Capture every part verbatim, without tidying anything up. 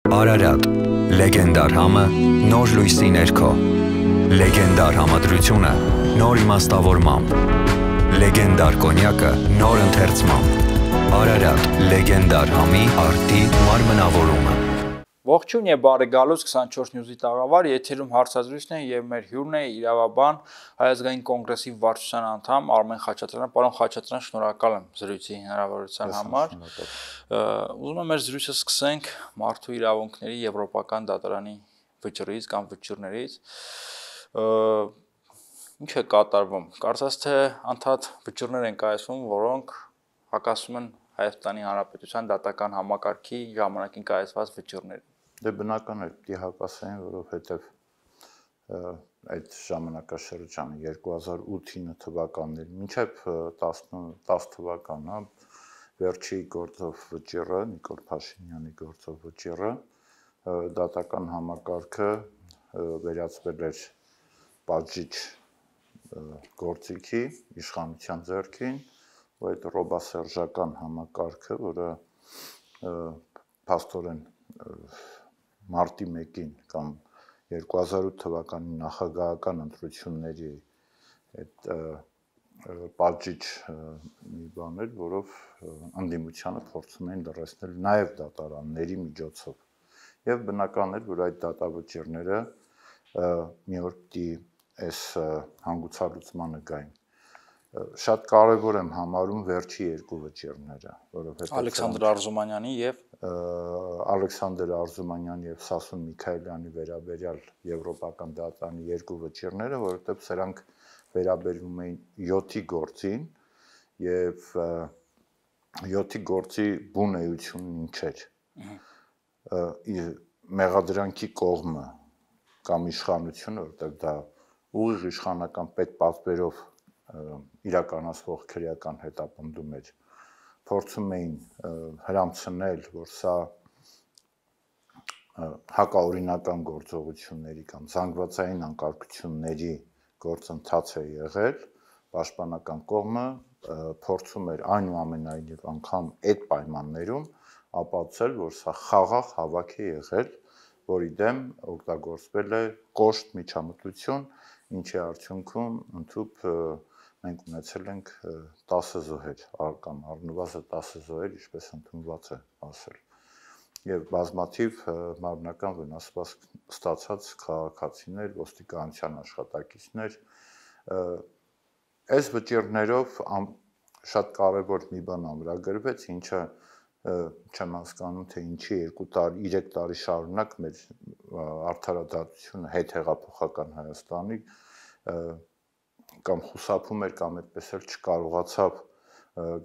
Արարատ, լեգենդար համը, նոր լույսի ներքո, լեգենդար համադրությունը, նոր իմաստավորմամբ, լեգենդար կոնյակը, նոր ընթերցմամբ, Արարատ, լեգենդար համի արդի մարմնավորումը։ Ողջույն եւ բարի գալուց քսանչորս նյուզի տաղավար, եթերում հարցազրույցն է եւ մեր հյուրն է իրավաբան Հայ ազգային կոնգրեսի վարչության անդամ Արմեն Խաչատրյանը։ Պարոն Խաչատրյան, շնորհակալ եմ զրույցի հնարավորության համար։ Ուզում եմ մեր զրույցը սկսենք մարդու իրավունքների եվրոպական դատարանի վճռից կամ վճիռներից։ Ինչ է կատարվում։ Կարծես թե անդադ վճիռներ են կայացվում, որոնք հակասում են Հայաստանի Հանրապետության դատական համակարգի ժամանակին կայացված վճիռներին։ Դե բնական է, պիտի հակասեն, որովհետև այդ ժամանակաշրջանը երկու հազար ութ թվականներ մինչև տասը թվականը վերջի գործով վճիռը, Նիկոլ Փաշինյանի գործով վճիռը, դատական համակարգը վերածվել էր պատժիչ գործիքի, իշխանության ձեռքին, ու այդ ռոբասերժական համակարգը, որը փաստորեն մարտի մեկին կամ երկու հազար ութ թվականի նախագահական ընտրությունների այդ պատժիչ մի բան էր, որով ընդդիմությանը փորձում էին լրացնել նաև դատարանների միջոցով։ Եվ բնական էր, որ այդ դատավճիռները մի օր պիտի այս հանգուցալուծմանը գային։ Շատ կարևոր եմ համարում վերջի երկու վճիռները, որովհետև Ալեքսանդր Արզումանյանի եւ Ալեքսանդր Արզումանյանի եւ Սասուն Միքայելյանի վերաբերյալ եվրոպական դատարանի երկու վճիռները, որովհետև սրանք վերաբերվում էին յոթի գործին եւ յոթի գործի բուն էությունն ինչ էր։ Մեղադրանքի կողմը կամ իշխանությունը, որովհետև դա ուղիղ իշխանական պետպատվերով իրականացվող քրեական հետապնդում էր, փորձում էին հրամցնել, որ սա հակաօրինական գործողությունների կամ զանգվածային անկարգությունների գործընթաց է եղել, պաշտպանական կողմը փորձում էր այնուամենայնիվ անգամ այդ պայմաններում ապացուցել, որ սա խաղաղ հավաք է եղել, որի դեմ օգտագործվել է կոշտ միջամտություն, ինչի արդյունքում ընդհուպ մենք ունեցել ենք տասը զոհեր, կամ առնվազն տասը զոհեր, ինչպես ընդունված է ասել, եւ բազմաթիվ մարմնական վնասվածք ստացած քաղաքացիներ, ոստիկանության աշխատակիցներ։ Այս վճիռներով շատ կարևոր մի բան ամրագրվեց, ինչը չեմ հասկանում, թե ինչի երկու տարի, երեք տարի շարունակ մեր արդարադատությունը հետհեղափոխական Հայաստանի կամ խուսափում էր կամ այդպես էլ չկարողացավ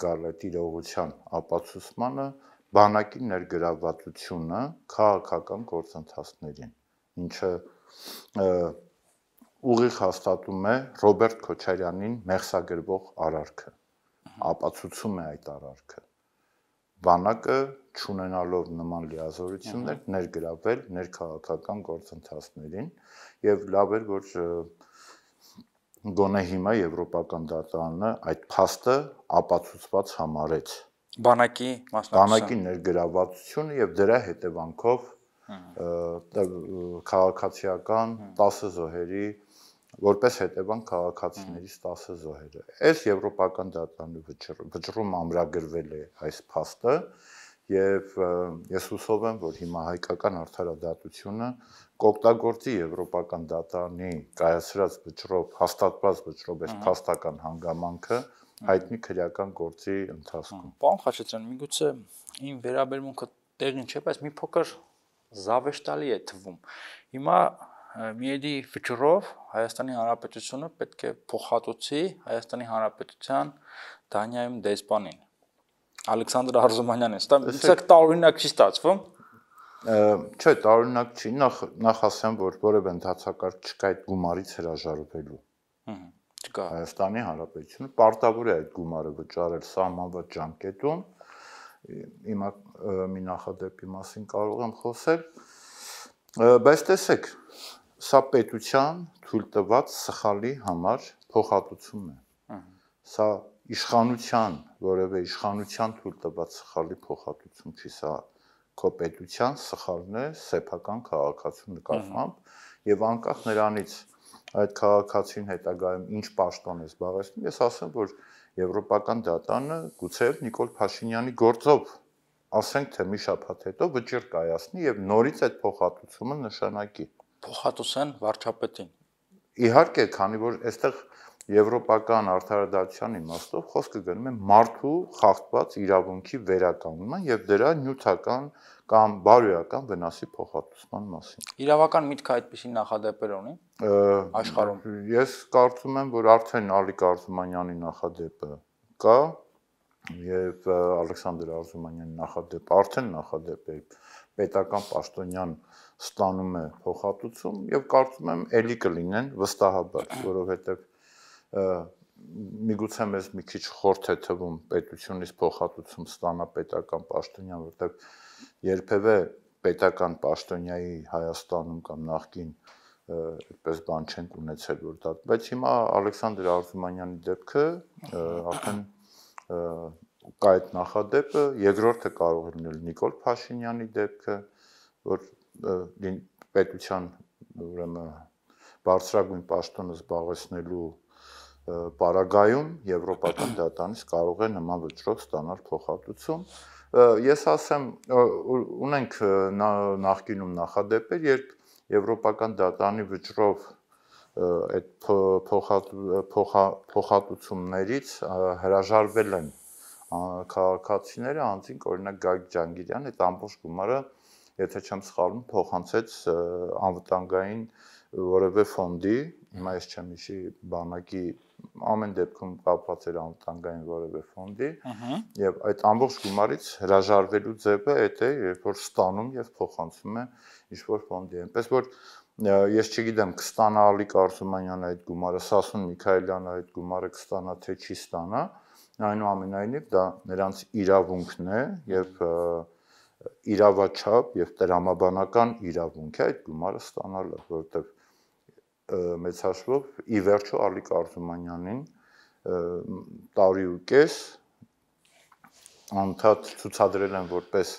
գալ այդ իրողության ապացուցմանը, բանակի ներգրավվածությունը քաղաքական գործընթացներին, ինչը ուղիղ հաստատում է Ռոբերտ Քոչարյանին մեղսագրվող արարքը, ապացուցում է այդ արարքը։ Բանակը չունենալով նման լիազորություններ ներգրավել ներքաղաքական գործընթացներին եւ լավ էր, որ գոնե հիմա Եվրոպական դատարանը այդ փաստը ապացուցված համարեց։ Բանակի բանակի ներգրավվածությունը եւ դրա հետևանքով քաղաքացիական տասը զոհերի որպես հետևանք քաղաքացիներից տասը զոհերը։ Այս Եվրոպական դատարանի վճռում ամրագրվել է այս փաստը եւ ես հուսով եմ, որ հիմա հայկական արդարադատությունը կօգտագործի Եվրոպական դատարանի կայացրած վճռով, հաստատված վճռով այս փաստական հանգամանքը հայտնի քրեական գործի ընթացքում։ Պարոն Խաչատրյան, միգուցե իմ վերաբերմունքը տեղին չէ, բայց մի փոքր զավեշտալի է թվում։ Հիմա միեդի վճռով Հայաստանի Հանրապետությունը պետք է փոխհատուցի Հայաստանի Հանրապետության Դանիայում դեսպանին Ալեքսանդր Արզումանյանին։ Սա տարօրինակ չի ստացվում։ Չէ, տարօրինակ չի, նախ նախ ասեմ, որ որևէ ընդհանրակարգ չկա այդ գումարից հրաժարվելու։ Չկա։ Հայաստանի Հանրապետությունը պարտավոր է այդ գումարը վճարել սահմանված ժամկետում։ Հիմա մի նախադեպի մասին կարող եմ խոսել, բայց տեսեք, սա պետության թույլ տված սխալի համար փոխհատուցում է։ Սա իշխանության, որևէ իշխանության թույլ տված սխալի փոխհատուցում չի, սա քո պետության սխալն է սեփական քաղաքացու նկատմամբ եւ անկախ նրանից այդ քաղաքացին հետագայում ինչ պաշտոն է զբաղեցնում, ես ասեմ, որ Եվրոպական դատարանը գուցե Նիկոլ Փաշինյանի գործով ասենք թե մի շաբաթ հետո վճիռ կայացնի եւ նորից այդ փոխհատուցումը նշանակի։ Փոխհատուցեն վարչապետին։ Իհարկե, քանի որ այստեղ եվրոպական արդարադատության իմաստով խոսքը գնում է մարդու խախտված իրավունքի վերականգնման եւ դրա նյութական կամ բարոյական վնասի փոխհատուցման մասին։ Իրավական միտքը այդպիսի նախադեպեր ունի աշխարհում։ Ես կարծում եմ, որ արդեն Ալիկ Արզումանյանի նախադեպը կա եւ Ալեքսանդր Արզումանյանի նախադեպը արդեն նախադեպ է, պետական պաշտոնյան ստանում է փոխհատուցում եւ կարծում եմ ելի կլինեն վստահաբար, որովհետեւ միգուցե մեզ մի քիչ խորթ է թվում պետությունից փոխհատուցում ստանա պետական պաշտոնյան, որովհետեւ երբևէ պետական պաշտոնյայի Հայաստանում կամ նախկին այդպես բան չենք ունեցել, որ դա, բայց հիմա Ալեքսանդր Արզումանյանի դեպքը արդեն կա այդ նախադեպը, երկրորդը կարող է լինել Նիկոլ Փաշինյանի դեպքը, որ պետության ուրեմն բարձրագույն պաշտոնը զբաղեցնելու պարագայում Եվրոպական դատարանից կարող է նման վճռով ստանալ փոխհատուցում։ Ես ասեմ, ունենք նախկինում նախադեպեր, երբ Եվրոպական դատարանի վճռով այդ փոխհատուցումներից հրաժարվել են քաղաքացիները, անձինք օրինակ Գագիկ Ջանգիրյան այդ ամբողջ գումարը, եթե չեմ սխալվում, փոխանցեց անվտանգային որևէ ֆոնդի, հիմա ես չեմ հիշի բանակի ամեն դեպքում կապված էր անվտանգային որևէ ֆոնդի, եւ այդ ամբողջ գումարից հրաժարվելու ձևը այդ է, երբ որ ստանում եւ փոխանցում է ինչ-որ ֆոնդի, այնպես որ ես չգիտեմ կստանա Ալիկ Արզումանյանը այդ գումարը, Սասուն Միքայելյանը այդ գումարը կստանա թե չի ստանա, այնուամենայնիվ դա նրանց իրավունքն է եւ իրավաչափ եւ տրամաբանական իրավունք է այդ գումարը ստանալը, որովհետեւ մեծ հաշվով ի վերջո Ալիկ Արզումանյանին տարի ու կես անդադ ցուցադրել են որպես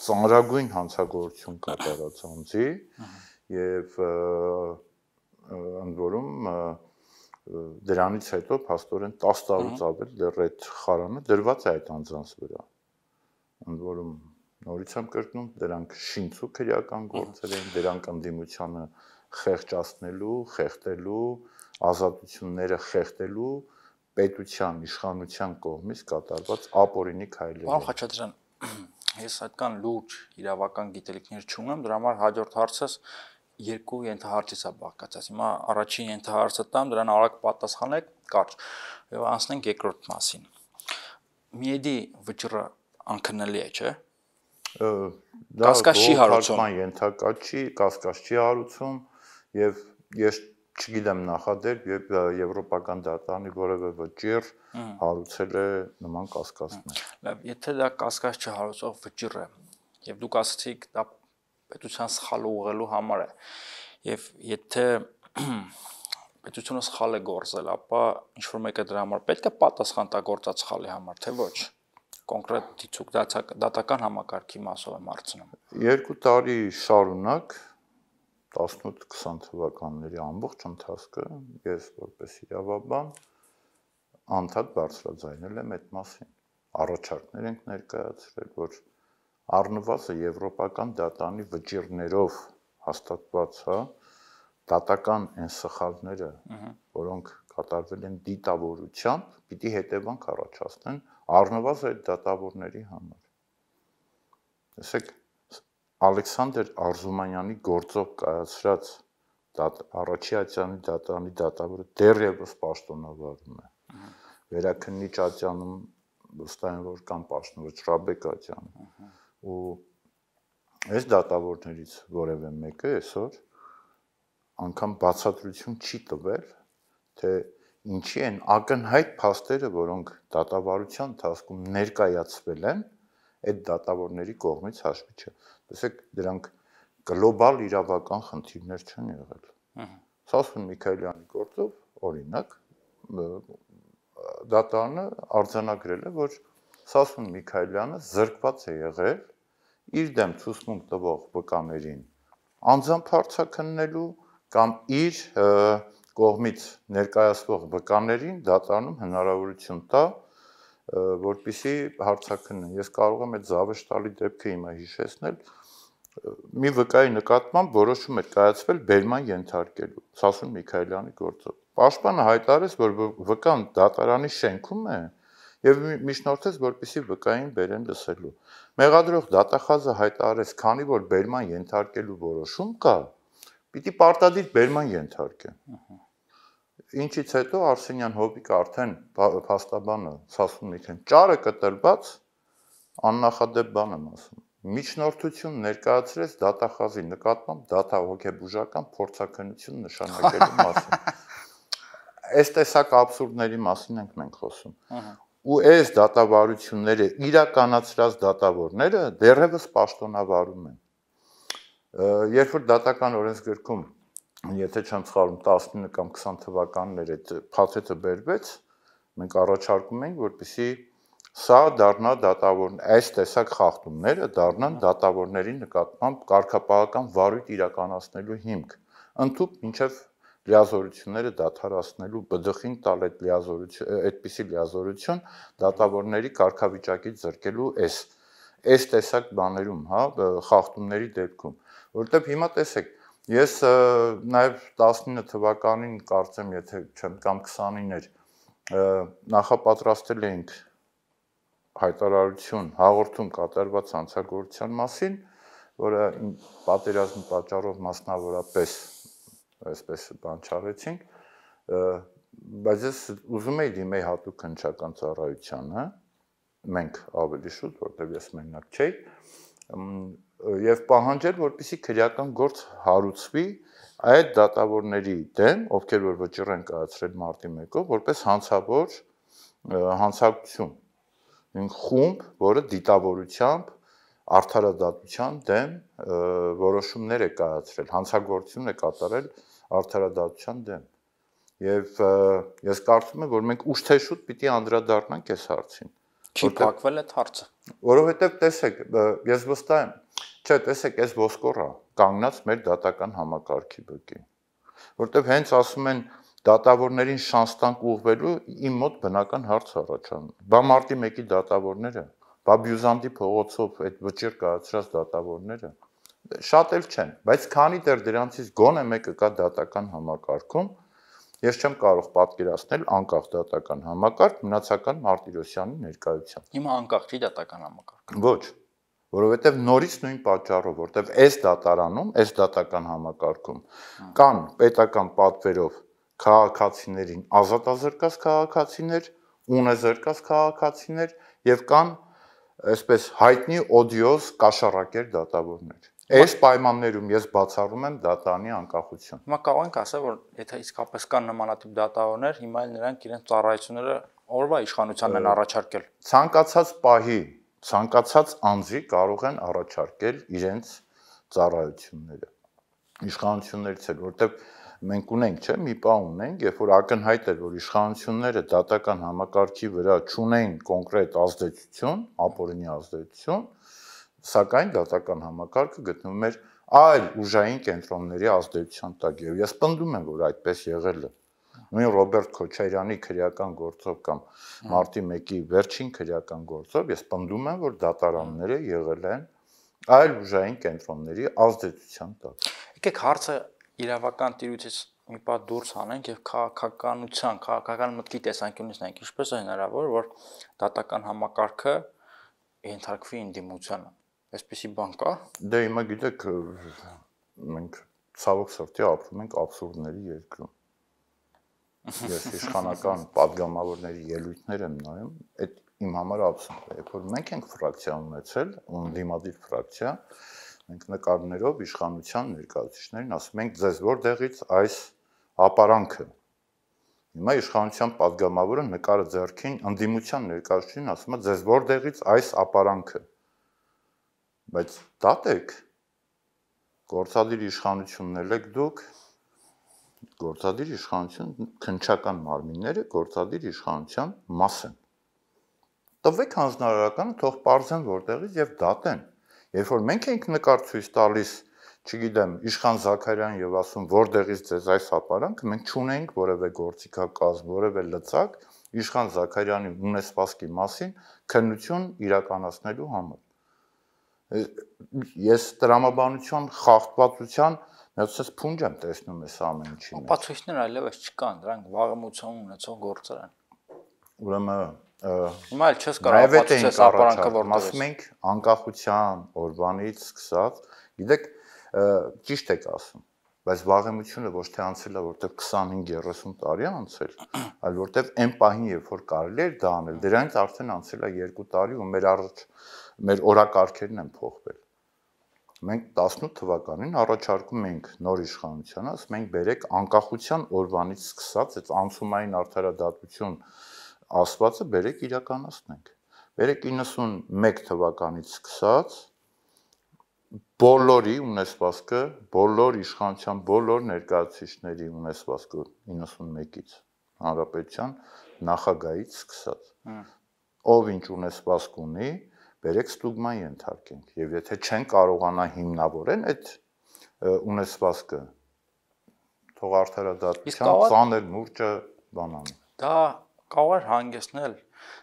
ծանրագույն հանցագործություն կատարած անձի եւ ընդ որում դրանից հետո փաստորեն տասը տարուց ավել դեռ այդ խարանը դրված է այդ անձանց վրա։ Ընդ որում նորից եմ կրկնում, դրանք շինցու քրեական գործեր են, դրանք ընդդիմությանը խեղճացնելու, խեղդելու, ազատությունները խեղդելու պետության իշխանության կողմից կատարված ապօրինի քայլեր։ Պարոն Խաչատրյան, ես այդքան լուրջ իրավական գիտելիքներ չունեմ, դրա համար հաջորդ հարցս երկու ենթահարցից է բաղկացած։ Հիմա առաջին ենթահարցը տամ, դրան արագ պատասխանեք, կարճ, եւ անցնենք երկրորդ մասին։ Միեդի վճռը անքննելի է, չէ՞։ Կասկած չի հարուցում։ Ենթակա չի, կասկած չի հարուցում եւ ես չգիտեմ նախադեպ, երբ Եվրոպական դատարանի որևէ վճիռ հարուցել է նման կասկածներ։ Լավ, եթե դա կասկած չհարուցող վճիռ է, եւ դուք ասացիք դա պետության սխալը ուղղելու համար է, եւ եթե պետությունը սխալ է գործել, ապա ինչ որ մեկը դրա համար պետք է պատասխան տա գործած սխալի համար, թե ոչ։ Կոնկրետ դիցուկ դատական համակարգի մասով եմ հարցնում։ Երկու տարի շարունակ տասնութ քսան թվականների ամբողջ ընթացքը ես որպես իրավաբան անդադ բարձրաձայնել եմ այդ մասին։ Առաջարկներ ենք ներկայացրել, որ առնվազն Եվրոպական դատարանի վճիռներով հաստատված, հա, դատական այն սխալները, որոնք կատարվել են դիտավորությամբ, պիտի հետևանք առաջացնեն առնվազն այդ դատավորների համար։ Տեսեք, Ալեքսանդր Արզումանյանի գործով կայացրած առաջի դատարանի դատավորը դեռևս պաշտոնավարում է։ Վերաքննիչ ատյանում վստահ եմ, որ կան պաշտոնավոր Շրաբեկ ատյանը։ Ու այս դատավորներից որևէ մեկը այսօր անգամ բացատրություն չի տվել, թե ինչի են ակնհայտ փաստերը, որոնք դատավարության ընթացքում ներկայացվել են, այդ դատավորների կողմից հաշվի չէ։ Տեսեք, դրանք գլոբալ իրավական խնդիրներ չեն եղել։ Սասուն Միքայելյանի գործով, օրինակ, դատարանը արձանագրել է, որ Սասուն Միքայելյանը զրկված է եղել իր դեմ ցուցմունք տվող վկաներին անձամբ հարցաքննելու կամ իր կողմից ներկայացվող վկաներին դատարանում հնարավորություն տա, որպեսզի հարցաքննեն։ Ես կարող եմ այդ զավեշտալի դեպքը հիմա հիշեցնել, մի վկայի նկատմամբ որոշում էր կայացվել բերման ենթարկելու Սասուն Միքայելյանի գործով։ Պաշտպանը հայտարարեց, որ վկան դատարանի շենքում է եւ միջնորդեց, որպեսզի վկային բերեն լսելու։ Մեղադրող դատախազը հայտարարեց, քանի որ բերման ենթարկելու որոշում կա, պիտի պարտադիր բերման ենթարկեն։ Ինչից հետո Արսենյան Հոբիկը արդեն փաստաբանը Սասուն Միքայելյան ճարը կտրված աննախադեպ բան եմ ասում։ Միջնորդություն ներկայացրեց դատախազի նկատմամբ դատահոգեբուժական փորձաքննություն նշանակելու մասին։ Այս տեսակ աբսուրդների մասին ենք մենք խոսում։ Ու այս դատավարությունները իրականացրած դատավորները դեռևս պաշտոնավարում են։ Երբ որ դատական օրենսգրքում, եթե չեմ սխալվում, տասնինը կամ քսան թվականներ այդ փաթեթը բերվեց, մենք առաջարկում ենք, որպեսզի սա դառնա դատավոր, այս տեսակ խախտումները դառնան դատավորների նկատմամբ կարգապահական վարույթ իրականացնելու հիմք, ընդհուպ մինչև լիազորությունները դադարեցնելու բդխին տալ այդ լիազորություն, այդպիսի լիազորություն դատավորների կարգավիճակից զրկելու այս այս տեսակ բաներում, հա, խախտումների դեպքում, որովհետև հիմա տեսեք, ես նաև տասնինը թվականին կարծեմ, եթե չեմ կամ քսանին էր, նախապատրաստել էինք հայտարարություն հաղորդում կատարված հանցագործության մասին, որը պատերազմի պատճառով մասնավորապես այսպես բան չարեցինք, բայց ես ուզում էի դիմեի հատուկ քննչական ծառայությանը, մենք ավելի շուտ, որտեղ ես մենակ չէի, եւ պահանջել, որպեսզի քրեական գործ հարուցվի այդ դատավորների դեմ, ովքեր որ վճիռ են կայացրել մարտի մեկով, որպես հանցավոր հանցակցություն, խումբ, որը դիտավորությամբ արդարադատության դեմ որոշումներ է կայացրել, հանցագործություն է կատարել արդարադատության դեմ։ Եվ ես կարծում եմ, որ մենք ուշ թե շուտ պիտի անդրադառնանք այս հարցին։ Չի փակվել այդ հարցը։ Որովհետև տեսեք, ես վստահ եմ, չէ, տեսեք, այս ոսկորը կանգնած մեր դատական համակարգի բկի։ Որովհետև հենց ասում են դատավորներին շանս տանք ուղղվելու, իմ մոտ բնական հարց առաջանում։ Բա մարտի մեկի դատավորները, բա Բյուզանդի փողոցով այդ վճիռ կայացրած դատավորները շատ էլ չեն, բայց քանի դեռ դրանցից գոնե մեկը կա դատական համակարգում, ես չեմ կարող պատկերացնել անկախ դատական համակարգ մնացական Մարտիրոսյանի ներկայությամբ։ Հիմա անկախ չի դատական համակարգը։ Ոչ, որովհետև նորից նույն պատճառով, որովհետև այս դատարանում, այս դատական համակարգում կան պետական պատվերով քաղաքացիներին ազատազրկած քաղաքացիներ, ունեզրկած քաղաքացիներ եւ կան այսպես հայտնի օդիոզ կաշառակեր դատավորներ։ Այս պայմաններում ես բացառում եմ դատանի անկախություն։ Հիմա կարող ենք ասել, որ եթե իսկապես կան նմանատիպ դատավորներ, հիմա էլ նրանք իրենց ծառայությունները օրվա իշխանությանն են առաջարկել։ Ցանկացած պահի, ցանկացած անձի կարող են առաջարկել իրենց ծառայությունները։ Իշխանություններից էլ, որտեղ մենք ունենք, չէ, մի բան ունենք, երբ որ ակնհայտ էր, որ իշխանությունները դատական համակարգի վրա չունեն կոնկրետ ազդեցություն, ապօրինի ազդեցություն, սակայն դատական համակարգը գտնվում էր այլ ուժային կենտրոնների ազդեցության տակ, եւ ես պնդում եմ, որ այդպես եղել է։ Նույն Ռոբերտ Քոչարյանի քրեական գործով կամ մարտի մեկի վերջին քրեական գործով ես պնդում եմ, որ դատարանները եղել են այլ ուժային կենտրոնների ազդեցության տակ։ Եկեք հարցը իրավական տիրույթից մի պահ դուրս հանենք եւ քաղաքականության, քաղաքական մտքի տեսանկյունից նայենք, ինչպես է հնարավոր, որ դատական համակարգը ենթարկվի ինդիմությանը։ Այսպեսի բան կա։ Դե հիմա գիտեք, մենք ցավոք սրտի ապրում ենք աբսուրդների երկրում։ Ես իշխանական падգամավորների ելույթներ եմ նայում, այդ իմ համար աբսուրդ է, երբ որ մենք ենք ֆրակցիա ունեցել, անդիմադիր ֆրակցիա, մենք նկարներով իշխանության ներկայացուցիչներին ասում ենք, ձեզ որտեղից այս ապարանքը։ Հիմա իշխանության падգամավորը նկարը ձեռքին անդիմության ներկայացուցիչին ասում է, ձեզ որտեղից այս ապարանքը։ Բայց դատեք, գործադիր իշխանությունն եք դուք, գործադիր իշխանություն քննչական մարմինները գործադիր իշխանության մաս են։ Տվեք հանձնարարականը, թող պարզեն որտեղից եւ դատեն։ Երբ որ մենք ենք նկար ցույց տալիս, չգիտեմ, Իշխան Զաքարյան եւ ասում, որտեղից ձեզ այս ապարանքը, մենք չունենք որևէ գործիքակազմ, որևէ լծակ Իշխան Զաքարյանի ունեցվածքի մասին քննություն իրականացնելու համար։ Ես տրամաբանության խախտվածության միացած փունջ եմ տեսնում այս ամեն ինչի մեջ։ Ապացույցներ այլևս չկան, դրանք վաղեմություն ունեցող գործեր են։ Ուրեմն հիմա էլ չես կարող ապացուցես ապարանքը որտեղ է։ Ասում ենք անկախության օրվանից սկսած, գիտեք, ճիշտ եք ասում, բայց վաղեմությունը ոչ թե անցել է, որտեղ քսանհինգ երեսուն տարի է անցել, այլ որտեղ այն պահին, երբ որ կարելի էր դա անել, դրանից արդեն անցել է երկու տարի ու մեր առաջ մեր օրակարգերն են փոխվել։ Մենք տասնութ թվականին առաջարկում ենք նոր իշխանությանը, ասում ենք բերեք անկախության օրվանից սկսած այդ անցումային արդարադատություն ասվածը բերեք իրականացնենք։ Բերեք իննսունմեկ թվականից սկսած բոլորի ունեցվածքը, բոլոր իշխանության բոլոր ներկայացուցիչների ունեցվածքը իննսունմեկից հանրապետության նախագահից սկսած։ Ով ինչ ունեցվածք ունի, բերեք ստուգման ենթարկենք եւ եթե չեն կարողանա հիմնավորեն այդ ունեցվածքը թող արդարադատության ծանր մուրճը բանան։ Դա կարող է հանգեցնել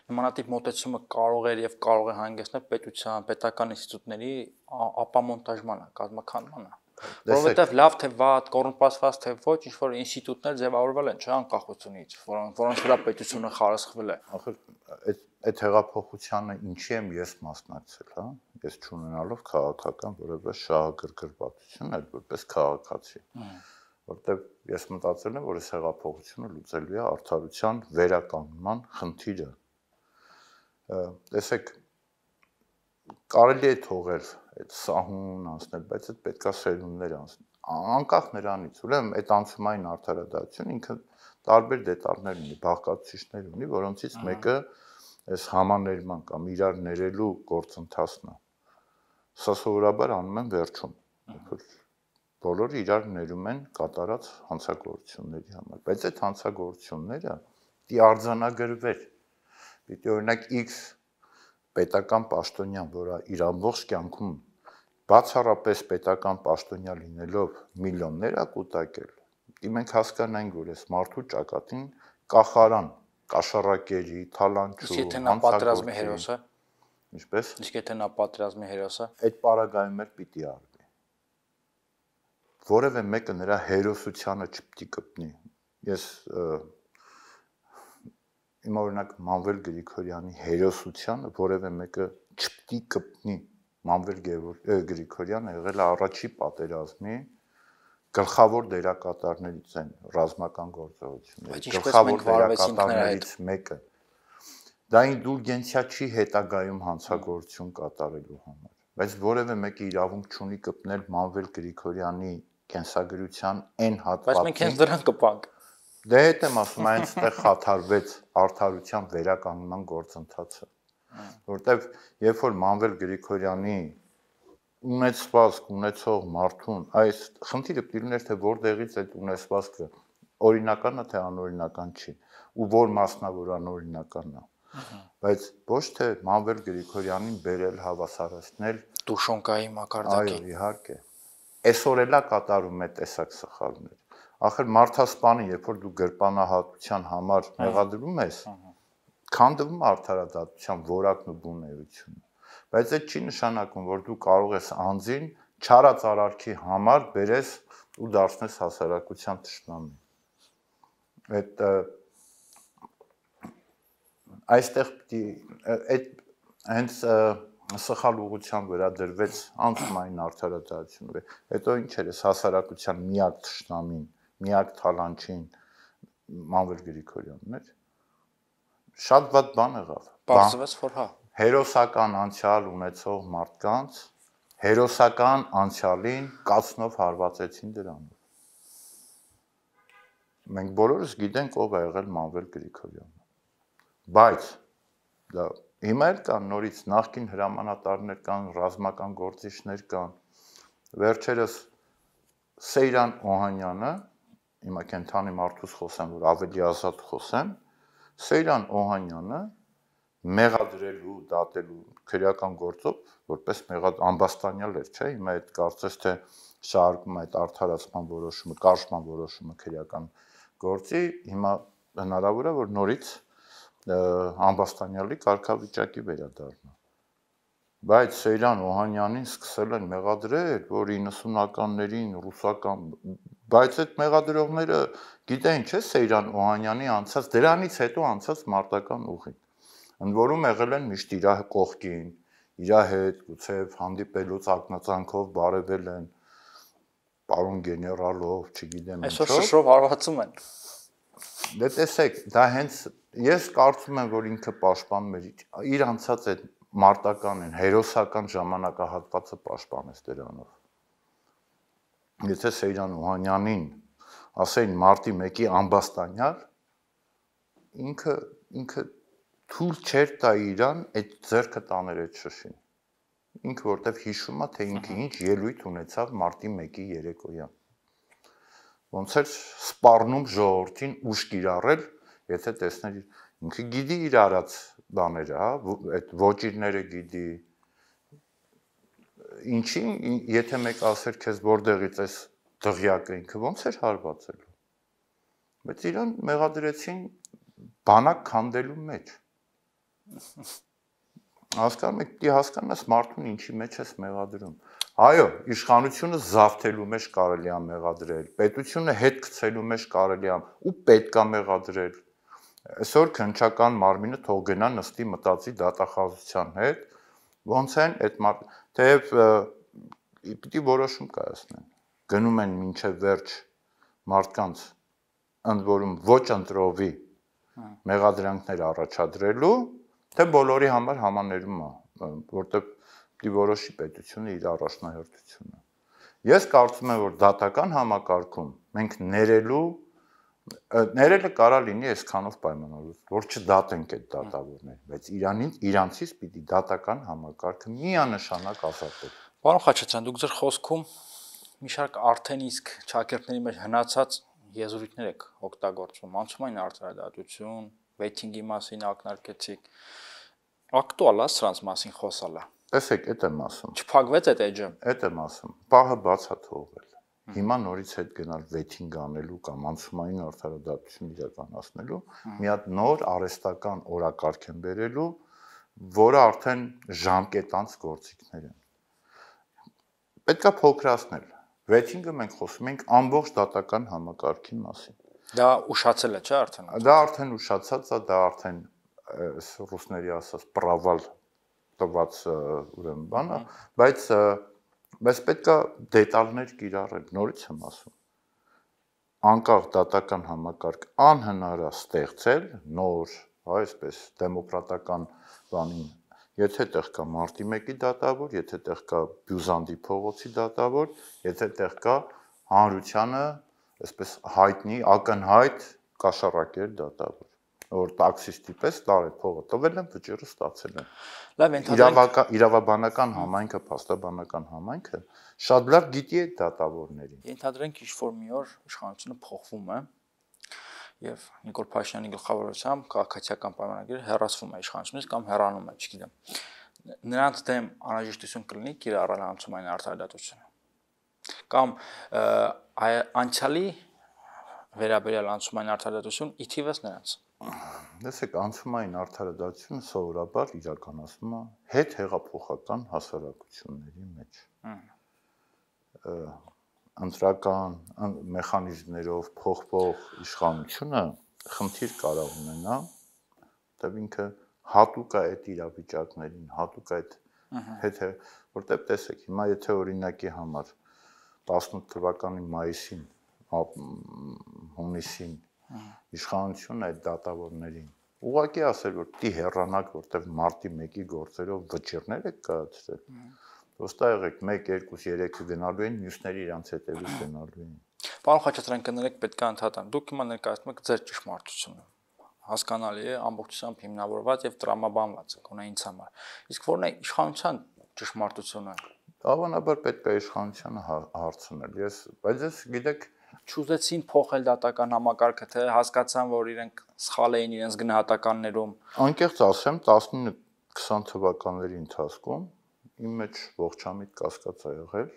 նմանատիպ մոտեցումը կարող էր եւ կարող է հանգեցնել պետության, պետական ինստիտուտների ապամոնտաժմանը, կազմաքանդմանը։ Որովհետեւ լավ թե վատ, կոռումպացված թե ոչ, ինչ որ ինստիտուտներ ձևավորվել են, չէ՞, անկախությունից, որոնց վրա պետությունը խարսխվել է։ Ախր այդ այդ հեղափոխությանը ինչի եմ ես մասնակցել, հա։ Ես չունենալով քաղաքական որևէ շահագրգռվածություն, այլ որպես քաղաքացի։ Որտեւ ես մտածել եմ, որ այս հեղափոխությունը լուծելու է արդարության վերականգնման խնդիրը։ Տեսեք, կարելի է թողել այդ սահուն անցնել, բայց այդ պետքա սերունդներ անցնել։ Անկախ նրանից, ուրեմն այդ անցումային արդարադատություն ինքը տարբեր դետալներ ունի, բաղկացուցիչներ ունի, որոնցից մեկը այս համաներման կամ իրար ներելու գործընթացն է։ Սա սովորաբար անում են վերջում։ Բոլորը իրար ներում են կատարած հանցագործությունների համար, բայց այդ հանցագործությունները պիտի արձանագրվեր։ Պիտի օրինակ X պետական պաշտոնյան, որը իր ամբողջ կյանքում բացառապես պետական պաշտոնյա լինելով միլիոններ է կուտակել, պիտի մենք հասկանանք, որ այս մարդու ճակատին կախարան, կաշառակերի, թալանչու, իսկ եթե նա պատերազմի հերոս է, ինչպես։ Իսկ եթե նա պատերազմի հերոս է, այդ պարագայում էլ պիտի արվի։ Որևէ մեկը նրա հերոսությանը չպիտի կպնի։ Ես իմ օրինակ Մանվել Գրիգորյանի հերոսությանը որևէ մեկը չպիտի կպնի։ Մանվել Գրիգորյանը եղել է առաջի պատերազմի գլխավոր դերակատարներից են ռազմական գործողությունների, գլխավոր դերակատարներից մեկը։ Դա ինդուլգենցիա չի հետագայում հանցագործություն կատարելու համար, բայց որևէ մեկը իրավունք չունի կպնել Մանվել Գրիգորյանի կենսագրության այն հատվածին։ Բայց մենք հենց դրան կպանք։ Դե հետ եմ ասում, այնտեղ խաթարվեց արդարության վերականգնման գործընթացը, որտեվ երբ որ Մանվել Գրիգորյանի ունեցվածք ունեցող մարդուն, այս խնդիրը դիլներ թե որտեղից այդ ունեցվածքը օրինական է թե անօրինական չի, ու որ մասնավոր անօրինականն է, բայց ոչ թե Մանվել Գրիգորյանին բերել հավասարացնել Տուշոնկայի մակարդակին։ Այո, իհարկե։ Այսօր էլա կատարում է տեսակ սխալներ։ Ախր մարդասպանը, երբ որ դու գրպանահատության համար մեղադրում ես, քանդվում արդարադատության որակն ու բունեությունը։ Բայց այդ չի նշանակում, որ դու կարող ես անձին չարած արարքի համար բերես ու դարձնես հասարակության թշնամի։ Այդ այստեղ պիտի այդ հենց սխալ ուղղությամբ վրա դրվեց անցումային արդարադատությունը։ Հետո ինչ էր այս հասարակության միակ թշնամին, միակ թալանչին Մանվել Գրիգորյանն էր։ Շատ վատ բան եղավ։ Պարզվեց, որ հա։ Հերոսական անցյալ ունեցող մարդկանց հերոսական անցյալին կացնով հարվածեցին դրանով։ Մենք բոլորս գիտենք ով է եղել Մանվել Գրիգորյանը։ Բայց դա հիմա էլ կան նորից նախկին հրամանատարներ կան, ռազմական գործիչներ կան։ Վերջերս Սեյրան Օհանյանը, հիմա կենթանի մարդուց խոսեմ, որ ավելի ազատ խոսեմ, Սեյրան Օհանյանը մեղադրելու, դատելու քրեական գործով, որպես մեղադ ամբաստանյալ էր, չէ՞, հիմա այդ կարծես թե շարքում այդ արդարացման որոշումը, կարճման որոշումը քրեական գործի, հիմա հնարավոր է, որ նորից ամբաստանյալի կարգավիճակի վերադառնա։ Բայց Սեյրան Օհանյանին սկսել են մեղադրել, որ իննսունականներին ռուսական, բայց այդ մեղադրողները գիտեն, չէ՞, Սեյրան Օհանյանի անցած, դրանից հետո անցած մարտական ուղին։ Ընդ որում եղել են միշտ իր կողքին, իր հետ, գուցե հանդիպելուց ակնածանքով բարևել են, պարոն գեներալով, չգիտեմ ինչով։ Այսօր շշրով հարվածում են։ Դե տեսեք, դա հենց ես կարծում եմ, որ ինքը պաշտպանում էր իր անցած այդ մարտական են, հերոսական ժամանակահատվածը պաշտպանեց դրանով։ Եթե Սեյրան Օհանյանին ասեին մարտի մեկի ամբաստանյալ, ինքը ինքը թույլ չէր տա իրան այդ ձեռքը տաներ այդ շշին։ Ինքը որտեվ հիշում է, թե ինքը ինչ ելույթ ունեցավ մարտի մեկի երեկոյան։ Ոնց էր սպառնում ժողովրդին ուժ կիրառել, եթե տեսներ ինքը գիտի իր արած բաները, հա, այդ ոճիրները գիտի։ Ինչի, եթե մեկ ասեր քեզ որտեղից էս դղյակը ինքը ոնց էր հարվածելու։ Բայց իրան մեղադրեցին բանակ քանդելու մեջ։ Հասկանում եք, դի հասկանաս մարդուն ինչի մեջ ես մեղադրում։ Այո, իշխանությունը զավթելու մեջ կարելի է մեղադրել, պետությունը հետ գցելու մեջ կարելի է ու պետք է մեղադրել։ Այսօր քննչական մարմինը թող գնա նստի մտածի դատախազության հետ, ոնց են այդ մարդ, թեև պիտի որոշում կայացնեն։ Գնում են մինչև վերջ մարդկանց ընդ որում ոչ ընտրովի մեղադրանքներ առաջադրելու, թե բոլորի համար համաներում է, որտեղ պիտի որոշի պետությունը իր առաջնահերթությունը։ Ես կարծում եմ, որ դատական համակարգում մենք ներելու ներելը կարա լինի այսքանով պայմանավորված, որ չդատենք այդ դատավորներին, բայց Իրանին իրանցից պիտի դատական համակարգը միանշանակ ազատել։ Պարոն Խաչատրյան, դուք ձեր խոսքում մի շարք արդեն իսկ ճակերտների մեջ հնացած եզրույթներ եք օգտագործում, անցումային արդարադատություն, վեյթինգի մասին ակնարկեցիք, ակտուալ է սրանց մասին խոսալը։ Տեսեք, այդ եմ ասում։ Չփակվեց այդ էջը։ Այդ եմ ասում։ Պահը բաց է թողվել։ Հիմա նորից հետ գնալ վեյթինգ անելու կամ անցումային արդարադատություն իրականացնելու մի հատ նոր արհեստական օրակարգ են բերելու, որը արդեն ժամկետանց գործիքներ են։ Պետք է փոքրացնել։ Վեյթինգը մենք խոսում ենք ամբողջ դատական համակարգի մասին։ Դա ուշացել է, չէ՞ արդեն։ Դա արդեն ուշացած է, դա արդեն ռուսների ասած պրավալ տված ուրեմն բանը, բայց բայց պետք է դետալներ կիրառել, նորից եմ ասում։ Անկախ դատական համակարգ անհնար է ստեղծել նոր, այսպես դեմոկրատական բանին, եթե տեղ կա մարտի մեկի դատավոր, եթե տեղ կա Բյուզանդի փողոցի դատավոր, եթե տեղ կա հանրությանը, այսպես հայտնի, ակնհայտ կաշառակեր դատավոր, որ տաքսիստի պես տարել փողը տվել են, վճիռը ստացել են։ Լավ, ենթադրենք իրավաբանական համայնքը, փաստաբանական համայնքը շատ լավ գիտի այդ դատավորներին։ Ենթադրենք ինչ-որ մի օր իշխանությունը փոխվում է եւ Նիկոլ Փաշինյանի գլխավորությամբ քաղաքացիական պայմանագիրը հեռացվում է իշխանությունից կամ հեռանում է, չգիտեմ։ Նրանց դեմ անհրաժեշտություն կլինի կիրառել անցումային արդարադատությունը։ Կամ անցյալի վերաբերյալ անցումային արդարադատություն ի թիվս նրանց։ Տեսեք, անցումային արդարադատությունը սովորաբար իրականացվում է հետ հեղափոխական հասարակությունների մեջ։ Ընտրական մեխանիզմներով փոխվող իշխանությունը խնդիր կարող ունենա, որտեղ ինքը հատուկ է այդ իրավիճակներին, հատուկ է այդ հետ, որտեղ տեսեք, հիմա եթե օրինակի համար տասնութ թվականի մայիսին, հունիսին իշխանությունը այդ դատավորներին ուղղակի ասել, որ պիտի հեռանաք, որտեղ մարտի մեկի գործերով վճիռներ եք կայացրել։ Ոստա եղեք մեկ, երկու, երեքը գնալու են, մյուսները իրանց հետևից գնալու են։ Պարոն Խաչատրյան, կներեք, պետք է ընդհատեմ։ Դուք հիմա ներկայացնում եք ձեր ճշմարտությունը։ Հասկանալի է, ամբողջությամբ հիմնավորված եւ տրամաբանված է գոնե ինձ համար։ Իսկ որն է իշխանության ճշմարտությունը։ Հավանաբար պետք է իշխանությանը հարցնել։ Ես, բայց ես գիտեք, չուզեցին փոխել դատական համակարգը, թե հասկացան, որ իրենք սխալ էին իրենց գնահատականներում։ Անկեղծ ասեմ, տասնինը քսան թվականների ընթացքում իմ մեջ ողջամիտ կասկած է եղել,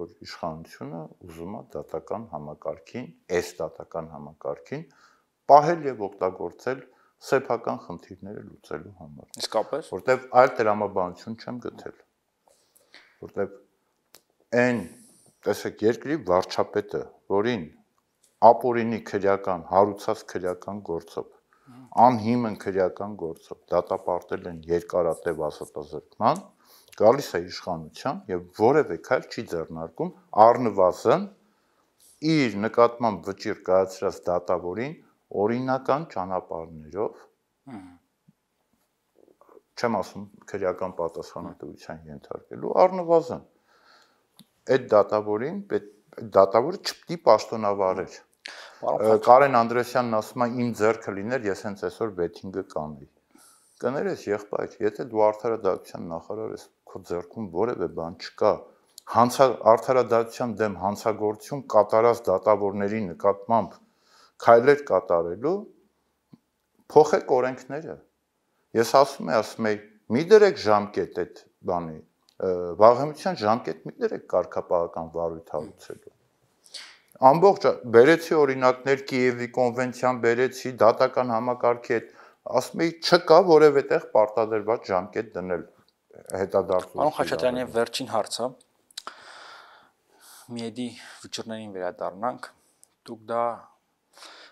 որ իշխանությունը ուզում է դատական համակարգին, այս դատական համակարգին պահել եւ օգտագործել սեփական խնդիրները լուծելու համար։ Իսկապես, որտեվ այլ տրամաբանություն չեմ գտել։ Որտեվ այն, տեսեք, երկրի վարչապետը, որին ապօրինի քրեական, հարուցած քրեական գործով, անհիմն քրեական գործով դատապարտել են երկարատև ասատազրկման, գալիս է իշխանության եւ որևէ քայլ չի ձեռնարկում առնվազն իր նկատմամբ վճիռ կայացրած դատավորին օրինական ճանապարհներով, չեմ ասում քրեական պատասխանատվության ենթարկելու, առնվազն այդ դատավորին դատավորը չպետք է պաշտոնավարեր։ Կարեն Անդրեսյանն ասում է իմ ձեռքը լիներ, ես հենց այսօր վեթինգը կանեի։ Կներես եղբայր, եթե դու արդարադատության նախարար ես, քո ձեռքում որևէ բան չկա, արդարադատության դեմ հանցագործություն կատարած դատավորների նկատմամբ քայլեր կատարելու, փոխեք օրենքները։ Ես ասում եմ, ասում եմ, մի դրեք ժամկետ այդ բանի, վաղեմության ժամկետ մի դրեք կարգապահական վարույթ հարուցելու։ Ամբողջ բերեցի օրինակներ Կիևի կոնվենցիան բերեցի, դատական համակարգի հետ, ասում եմ, չկա որևէ տեղ պարտադրված ժամկետ դնել հետադարձություն։ Պարոն Խաչատրյան, եւ վերջին հարցը Միեդի վճռներին վերադառնանք, դուք դա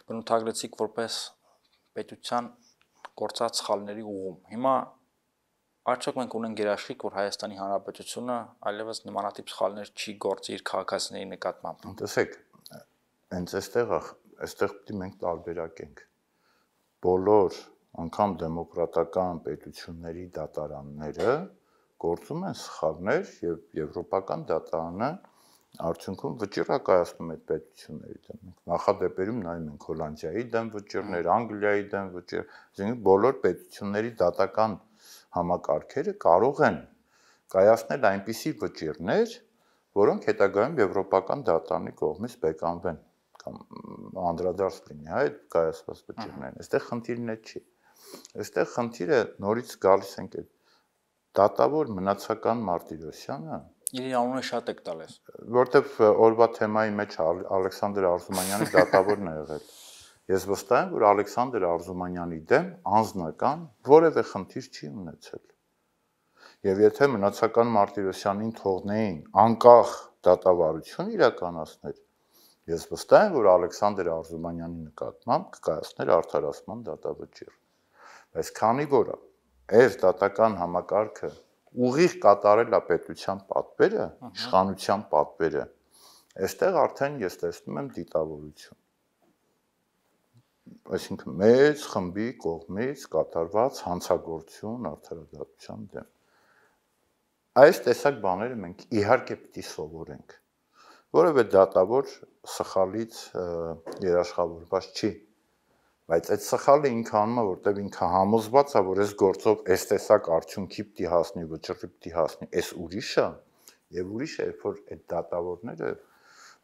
բնութագրեցիք որպես պետության գործած սխալների ուղում։ Հիմա արդյոք մենք ունենք գերաշխիք, որ Հայաստանի Հանրապետությունը այլևս նմանատիպ սխալներ չի գործի իր քաղաքացիների նկատմամբ։ Տեսեք, հենց այստեղ այստեղ պետք է մենք տարբերակենք։ Բոլոր անգամ դեմոկրատական պետությունների դատարանները գործում են սխալներ եւ եվրոպական դատարանը արդյունքում վճիռ է կայացնում այդ պետությունների դեմ։ Նախադեպերում նայում ենք Հոլանդիայի դեմ վճիռներ, Անգլիայի դեմ վճիռ, այսինքն բոլոր պետությունների դատական համակարգերը կարող են կայացնել այնպիսի վճիռներ, որոնք հետագայում եվրոպական դատարանի կողմից բեկանվեն կամ անդրադարձ լինի, հա, այդ կայացված վճիռներն։ Այստեղ խնդիրն է չի։ Այստեղ խնդիրը նորից գալիս ենք այդ դատավոր Մնացական Մարտիրոսյանը, իր անունը շատ եք տալիս, որտեվ օրվա թեմայի մեջ Ալեքսանդր Արզումանյանի դատավորն է եղել։ Ես վստահ եմ, որ Ալեքսանդր Արզումանյանի դեմ անձնական որևէ խնդիր չի ունեցել։ Եվ եթե Մնացական Մարտիրոսյանին թողնեին անկախ դատավարություն իրականացնել, ես վստահ եմ, որ Ալեքսանդր Արզումանյանի նկատմամբ կկայացներ արդարացման դատավճիռ։ Բայց քանի որ այս դատական համակարգը ուղիղ կատարել է պետության պատվերը, իշխանության պատվերը, այստեղ արդեն ես տեսնում եմ դիտավորություն։ Այսինքն մեծ խմբի կողմից կատարված հանցագործություն արդարադատության դեմ։ Այս տեսակ բաները մենք իհարկե պիտի սովորենք։ Որևէ դատավոր սխալից երաշխավորված չի, բայց այդ սխալը ինքը անում է, որտեղ ինքը համոզված է, որ այս գործով այս տեսակ արդյունքի պիտի հասնի, վճռի պիտի հասնի, այս ուրիշ է, եւ ուրիշ է, որ այդ դատավորները,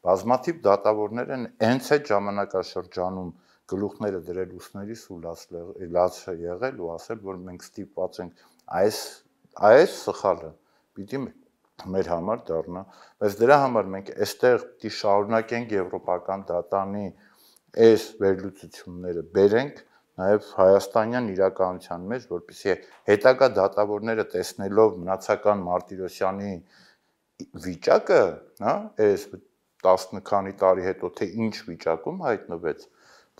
բազմաթիվ դատավորներ են հենց այդ ժամանակաշրջանում գլուխները դրել ուսներիս ու լաց եղել ու ասել, որ մենք ստիպված ենք այս այս սխալը պիտի մեր համար դառնա, բայց դրա համար մենք այստեղ պիտի շարունակենք եվրոպական դատանի այս վերլուծությունները բերենք նաև հայաստանյան իրականության մեջ, որպեսզի հետագա դատավորները տեսնելով Մնացական Մարտիրոսյանի վիճակը, հա, այս տասը քանի տարի հետո թե ինչ վիճակում հայտնվեց,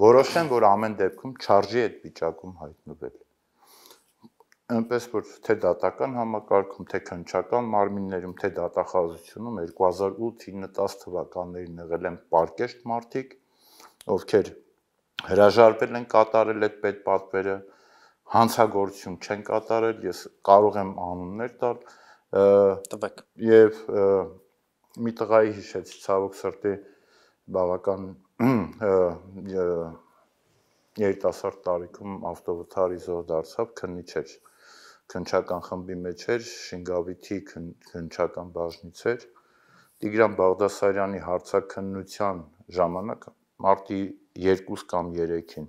որոշեն, որ ամեն դեպքում չարժի այդ վիճակում հայտնվել։ Այնպես որ թե դատական համակարգում, թե քննչական մարմիններում, թե դատախազությունում երկու հազար ութ ինը տաս թվականներին եղել են պարկեշտ մարդիկ, ովքեր հրաժարվել են կատարել այդ պետպատվերը, հանցագործություն չեն կատարել, ես կարող եմ անուններ տալ, տվեք։ Եվ մի տղայի հիշեցի, ցավոք սրտի բավական երիտասարդ տարիքում ավտովթարի զոհ դարձավ, քննիչ էր, քննչական խմբի մեջ էր, Շինգավիթի քննչական բաժնից էր, Տիգրան Բաղդասարյանի հարցաքննության ժամանակ մարտի երկուս կամ երեքին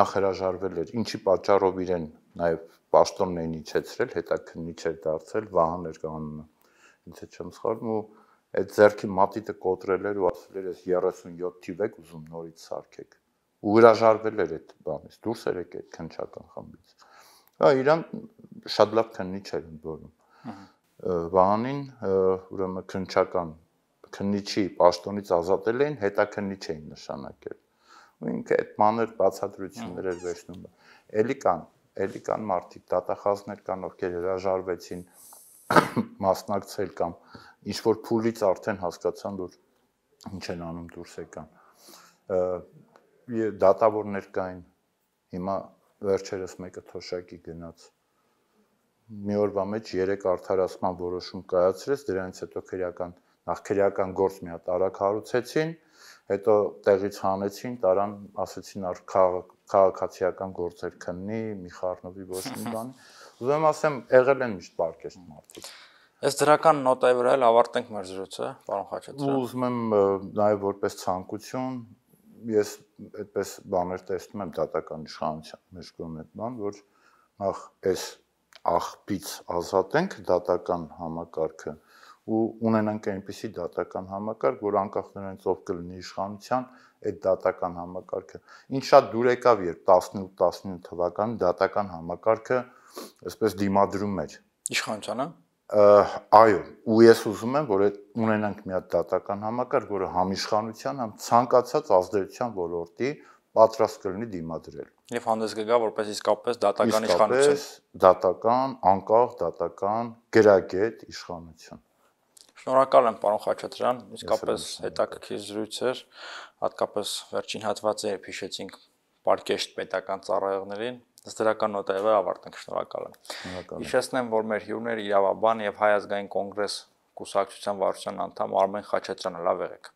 նախ հրաժարվել էր, ինչի պատճառով իրեն նաև պաշտոնն էին իջեցրել, հետաքննիչ էր դարձել, Վահան էր անունը, ինձ չեմ սխալվում, ու այդ ձեռքի մատիտը կոտրել էր ու ասել էր, ես երեսունյոթ թիվ եք ուզում նորից սարքեք, ու հրաժարվել էր այդ բանից, դուրս էր եկել այդ քննչական խմբից։ Հա, իրան շատ լավ քննիչ էր ընդորում։ Վահանին ուրեմն քննչական քննիչի պաշտոնից ազատել էին, հետաքննիչ էին նշանակել։ Ու ինքը այդ մանր բացատրություններ էր վերցնում։ Էլի կան, էլի կան մարդիկ, դատախազներ կան, ովքեր հրաժարվեցին մասնակցել կամ ինչ որ փուլից արդեն հասկացան, որ ինչ են անում դուրս եկան։ Դատավորներ կային, հիմա վերջերս մեկը թոշակի գնաց։ Մի օրվա մեջ երեք արդարացման որոշում կայացրեց, դրանից հետո քրեական նախ քրեական գործ մի հատ արագ հարուցեցին, հետո տեղից հանեցին, տարան, ասեցին ար քաղաքացիական գործեր քննի, մի խառնվի ոչ մի բան։ Ուզում եմ ասեմ, եղել են միշտ պարկեշտ մարդիկ։ Այս դրական նոտայի վրա էլ ավարտենք մեր զրույցը, պարոն Խաչատրյան։ Ու ուզում եմ նաև որպես ցանկություն, ես այդպես բաներ տեսնում եմ դատական իշխանության մեջ կողմից բան, որ նախ այս աղբից ազատենք դատական համակարգը ու ունենանք այնպիսի դատական համակարգ, որ անկախ նրանից ով կլինի իշխանության, այդ դատական համակարգը ինչ շատ դուր եկավ, երբ տասնութ տասնինը թվականին դատական համակարգը այսպես դիմադրում էր իշխանությանը։ Այո, ու ես ուզում եմ, որ այդ ունենանք մի հատ դատական համակարգ, որը համ իշխանության, համ ցանկացած ազդեցության ոլորտի պատրաստ կլինի դիմադրել։ Եվ հանդես կգա որպես իսկապես դատական իշխանություն։ Իսկապես դատական, անկախ դատական, գրագետ իշխանություն։ Շնորհակալ եմ, պարոն Խաչատրյան, իսկապես հետաքրքիր զրույց էր, հատկապես վերջին հատվածը երբ հիշեցինք պարկեշտ պետական ծառայողներին, ըստ դրական նոտայի վրա ավարտենք, շնորհակալ եմ։ Հիշեցնեմ, որ մեր հյուրն էր իրավաբան եւ Հայ ազգային կոնգրես կուսակցության վարչության անդամ Արմեն Խաչատրյանը, լավ եղեք։